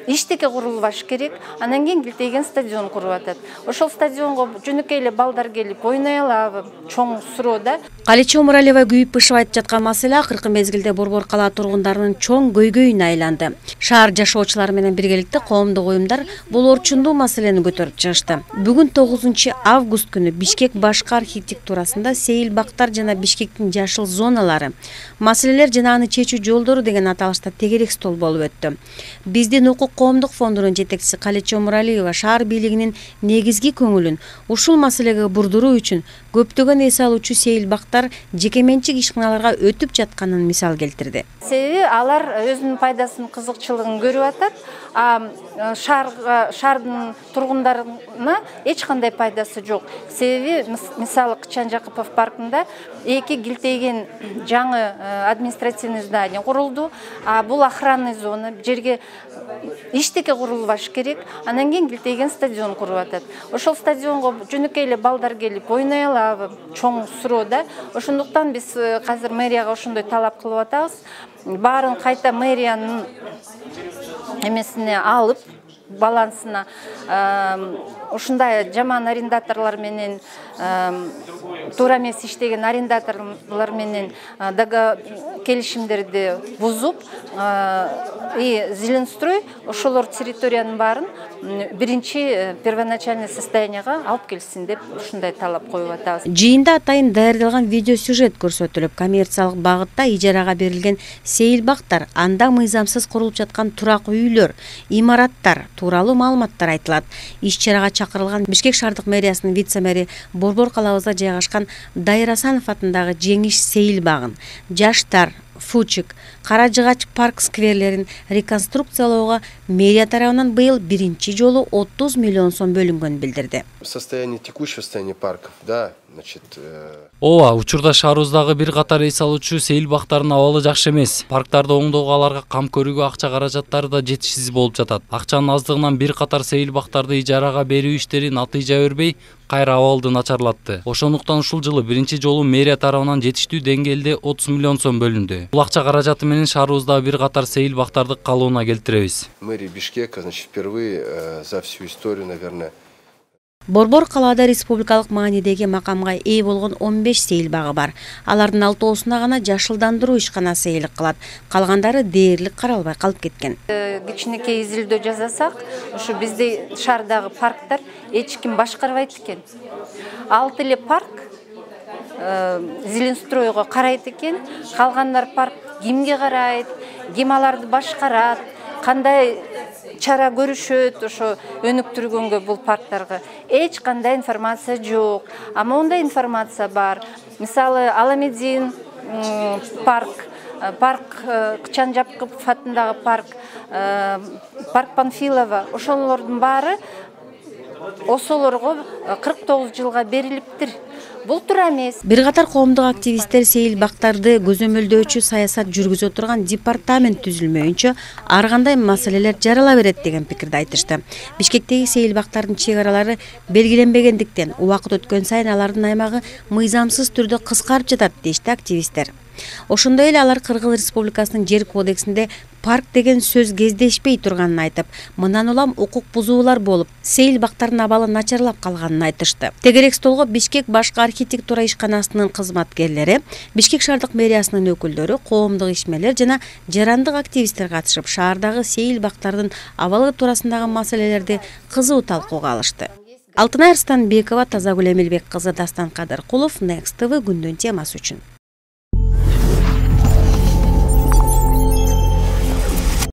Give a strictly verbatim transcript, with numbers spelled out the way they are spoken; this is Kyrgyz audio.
иштеке курулбаш керек. Анан кийин килтейген стадион куруп атат. Ошол стадионго жөнөкөй эле балдар келип ойной алабы? Чоң суроо да. Калечи Омуралиева күйүп бышып айтып жаткан маселе акыркы мезгилде Борбор кала тургундарынын чоң көйгөйүнө айланды. Шаар жашоочулары менен биргеликте коомдук уюмдар бул орчундуу маселени көтөрүп чыгышты. Бүгүн тогузунчу август күнү Бишкек башкы архитектурасында Сейил бактар жана Бишкектин жашыл зоналары, маселелер жана аны чечүү жолдору деген аталышта тегерек стол болуп өттү. Биздин Укук коомдук фондунун жетекчиси Калечи Омуралиева шаар бийлигинин негизги көңүлүн ушул маселеге бурдуруу үчүн көптөгөн эс алуучу Сейил бактар жекеменчик ишканаларга өтүп жатканын мисал келтирди. Себеби алар өзүнүн пайдасын, кызыкчылыгын көрүп атат, а шаарга, шаардын тургундарына эч кандай пайдасы жок. Себеби мисалы Кычан Жакыпов паркында эки килтейген жаңы административный здание курулду. А бул охранный зона, жерге иштеке курулбаш керек. Анан кийин килтейген стадион куруп атат. Ошол стадионго жөнөкөй эле балдар келип ойной алабы? Чоң суроо да. Ошондуктан биз азыр мэрияга ошондой талап кылып атабыз. Баарын кайта мэриянын эмесине алып, балансына ушундай жаман арендаторлор менен, туура эмес иштеген арендаторлор менен келишимдерди бузуп, и Зеленстрой ошолор территориянын баарын биринчи первоначальный состоянияга алып келсин деп ушундай талап коюп атабыз. Жыйында атайын даярдалган видео сюжет көрсөтүлүп, коммерциялык багытта ижарага берилген Сейил бактар, анда мыйзамсыз курулуп жаткан турак үйлөр, имараттар тууралуу маалыматтар айтылат. Иш-чарага чакырылган Бишкек шаардык мэриясынын вице-мэри Борбор калабызда жайгашкан Дайыр Асанов атындагы Жеңиш Сейил багын, жаштар, Фучик, Кара Жыгач парк скверлерин реконструкциялоого мэрия тарабынан быйыл биринчи жолу отуз миллион сом бөлүнгөнүн билдирди. Состояние текущего состояния парков, да, значит. Ооба, учурда шаарыбыздагы бир катар эс алуучу Сейил бактарынын абалы жакшы эмес. Парктарды оңдоого, аларга кам көрүүгө акча каражаттары да жетишсиз болуп жатат. Акчанын аздыгынан бир катар Сейил бактарды ижарага берүү иштери натыйжа бербей, кайра абалды начарлатты. Ошондуктан ушул жылы биринчи жолу мэрия тарабынан жетиштүү деңгээлде отуз миллион сом бөлүндү. Бул акча каражаты менен шаарыбызда бир катар Сейил бактарды калыбына келтиребиз. Мэрия Бишкека, значит, впервые за всю историю, наверное, Борбор калаада республикалык маанидеги макамга ээ болгон он беш Сейил багы бар. Алардын алтоосуна гана жашылдандыруу ишканасы ээлик кылат. Калгандары дээрлик каралбай калып кеткен. Кичинекей изилдөө жасасак, ушу бизде шаардагы парктар эч ким башкарбайт экен. Алты эле парк Зеленстройго карайт экен. Калгандар парк кимге карайт, ким аларды башкарат, кандай чара көрүшөт, ошо өнүктүргөнгө бул парктарга эч кандай информация жок. А мондай информация бар. Мисалы Аламедин парк, парк Кычан Жакыпов атындагы парк, парк Панфилова, ошолордун баары осолорго кырк тогуз жылга берилиптир. Бул туура эмес. Бир катар коомдук активисттер Сейил бактарды көзөмөлдөөчү саясат жүргүзө турган департамент түзүлмөйүнчө ар кандай маселелер жарала берет деген пикирди айтышты. Бишкектеги Сейил бактардын чек аралары белгиленбегендиктен убакыт өткөн сайын алардын аймагы мыйзамсыз түрдө кыскарып жатат дешти активисттер. Ошондой эле алар Кыргыз Республикасынын жер кодексинде парк деген сөз кездешпей турганын айтып, мындан улам укук бузуулар болуп, Сейил бактардын абалы начарлап калганын айтышты. Тегерек столго Бишкек башкы архитектура ишканасынын кызматкерлери, Бишкек шаардык мэриясынын өкүлдөрү, коомдук ишмерлер жана жарандык активисттер катышып, шаардагы Сейил бактардын абалы туурасындагы маселелерди кызуу талкууга алышты. Алтынай Арстанбекова, Тазагүл Эмилбек кызы, Дастан Кадыркулов, Next тэ вэ күндүн темасы үчүн.